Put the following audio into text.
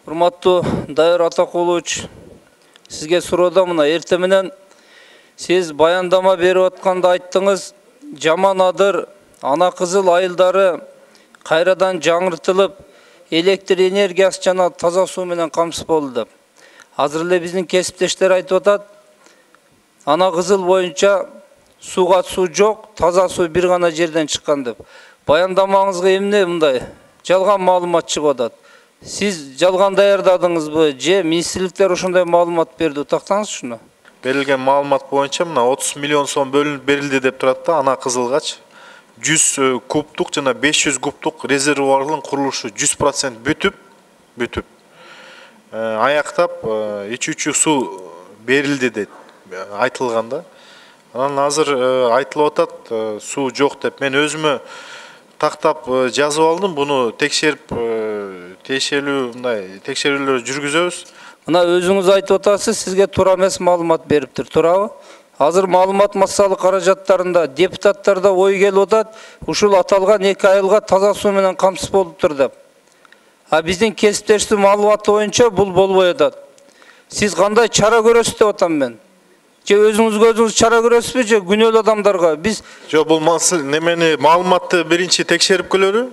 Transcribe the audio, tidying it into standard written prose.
Урматтуу Дайыр Атакулович, сизге суроодо мына эртең менен сиз баяндама берип атканда айттыңыз, Жаман Адыр, Ана Кызыл айылдары кайрадан жаңыртылып, электр энергиясы жана таза суу менен камсыз болду деп. Азыр эле биздин кесиптештер айтып атат, Ана Кызыл боюнча сууга суу жок, таза суу бир гана жерден чыккан деп. Баяндамаңызга эмне мындай жалган маалымат чыгып атат? Сиз жалган даярдадыңызбы же министрликтер ошондой маалымат берди? Тактаңыз ушуну. Берилген маалымат боюнча мына 30 миллион сом бөлүнүп берилди деп турат да. Ана Кызылгач 100 кубтук жана 500 кубтук резервуардын курулушу 100% бүтүп аяктап ичүүчү суу берилди деп айтылганда. Анан азыр айтылып атат суу жок деп. Мен өзүмө тактап жазып алдым, буну текшерип текшерүүлөр жүргүзөбүз. Мына өзүңүз айтып атасыз, сизге туура эмес маалымат бериптир, туурабы? Азыр маалымат массалык каражаттарында депутаттарда ой келип атат, ушул аталган 2 айылга таза суу менен камсыз болуптур деп. А биздин кесиптештин маалыматы боюнча бул болбой атат. Сиз кандай чара көрөсүз деп атам мен? Же өзүңүз чара көрөсүзбү же күнөөлүү адамдарга? Биз жок, бул немени маалыматты биринчи текшерип келөлү.